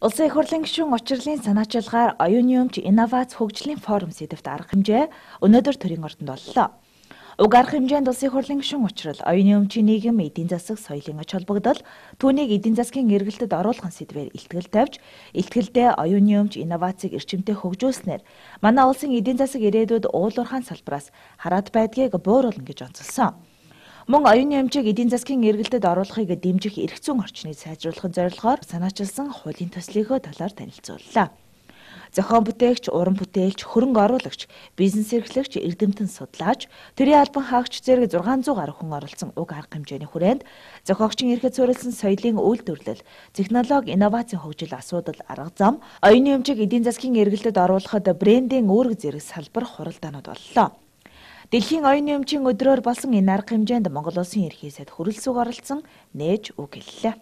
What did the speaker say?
Улсын их хурлын гишүүн учрлын санаачилгаар оюуны өмч инновац хөгжлийн форум сэдэвт арга хэмжээ өнөөдөр төрийн ордонд боллоо. Уг арга хэмжээнд улсын их хурлын гишүүн учрал оюуны өмчийн нийгэм эдийн засаг соёлын ач холбогдол түүнийг эдийн засгийн эргэлтэд оруулах сэдвээр илтгэл тавьж илтгэлдээ оюуны өмч инновацийг эрчимтэй хөгжүүлснээр манай улсын эдийн засаг ирээдүйд уулуурхаан салбараас хараад байдгийг бууруулна гэж онцолсон. Мөн оюуны өмчийг эдийн засгийн эргэлтэд оруулахыг дэмжих эрх зүйн орчныг сайжруулахын зорилгоор санаачилсан хуулийн төслийнхөө талаар танилцууллаа. Зохион бүтээгч, уран бүтээлч, хөрөнгө оруулагч, бизнес эрхлэгч, эрдэмтэн судлаач, төрийн албан хаагч зэрэг 600 гаруй хүн оролцсон уг арга хэмжээний хүрээнд зохиогчийн эрхэд суурилсан соёлын үйлдвэрлэл, технологи, инновацийн хөгжил асуудал, арга зам, оюуны өмчийг эдийн засгийн эргэлтэд оруулахад брендийн үүрэг зэрэг салбар хуралдаанууд боллоо. Дэлхийн оюуны өмчийн өдрөөр болсон энэ арга хэмжээнд Монгол Улсын ерхий сайд хүрэлцэг оролцсон нээж үг хэллээ.